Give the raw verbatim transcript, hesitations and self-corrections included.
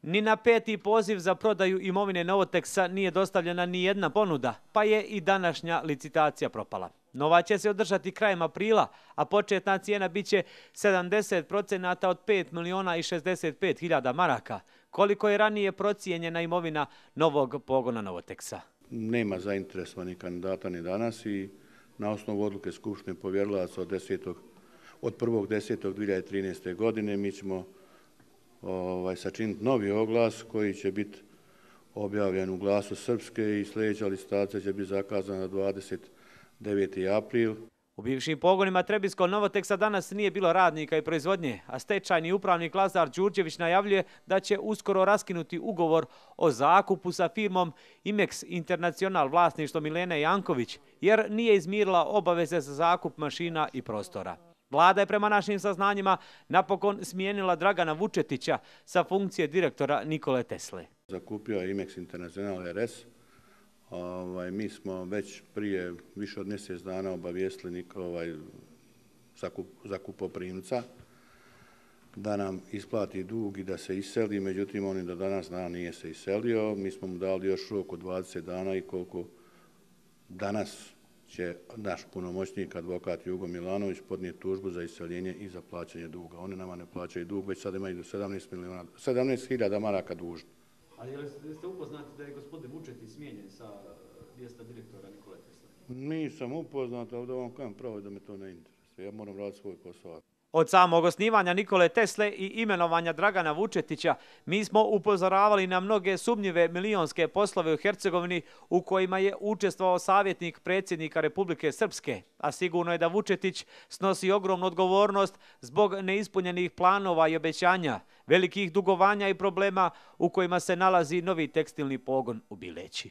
Ni na peti poziv za prodaju imovine Novoteksa nije dostavljena ni jedna ponuda, pa je i današnja licitacija propala. Nova će se održati krajem aprila, a početna cijena biće sedamdeset procenata od pet miliona i šezdeset pet hiljada maraka, koliko je ranije procijenjena imovina novog pogona Novoteksa. Nema zainteresovanih kandidata ni danas i na osnovu odluke Skupštine povjerilaca od, od prvog desetog dvije hiljade trinaeste. godine mi ćemo ovaj, sačiniti novi oglas koji će biti objavljen u Glasu Srpske i sljedeća licitacija će biti zakazana dvadeset deveti april. U bivšim pogonima Trebinsko-Novoteksa danas nije bilo radnika i proizvodnje, a stečajni upravnik Lazar Đurđević najavljuje da će uskoro raskinuti ugovor o zakupu sa firmom Imex International vlasništvo Milene Janković, jer nije izmirila obaveze za zakup mašina i prostora. Vlada je prema našim saznanjima napokon smijenila Dragana Vučetića sa funkcije direktora Nikole Tesle. Zakupio je Imex International R S. Ovaj, mi smo već prije više od mjesec dana obavijestili ovaj, zakup, zakupoprimca da nam isplati dug i da se iseli, međutim on do danas dana nije se iselio. Mi smo mu dali još rok od dvadeset dana i koliko danas će naš punomoćnik, advokat Jugo Milanović, podnijeti tužbu za iseljenje i za plaćanje duga. Oni nama ne plaćaju dug, već sad imaju do sedamnaest hiljada maraka dužni. Ali jeste upoznati da je gospodin Vučetić smijenjen sa mjesta direktora Nikole Tesle? Nisam upoznat, ali da vam kažem pravo da me to ne interesuje. Ja moram raditi svoj posao. Od samog osnivanja Nikole Tesle i imenovanja Dragana Vučetića mi smo upozoravali na mnoge sumnjive milionske poslove u Hercegovini u kojima je učestvovao savjetnik predsjednika Republike Srpske, a sigurno je da Vučetić snosi ogromnu odgovornost zbog neispunjenih planova i obećanja, velikih dugovanja i problema u kojima se nalazi novi tekstilni pogon u Bileći.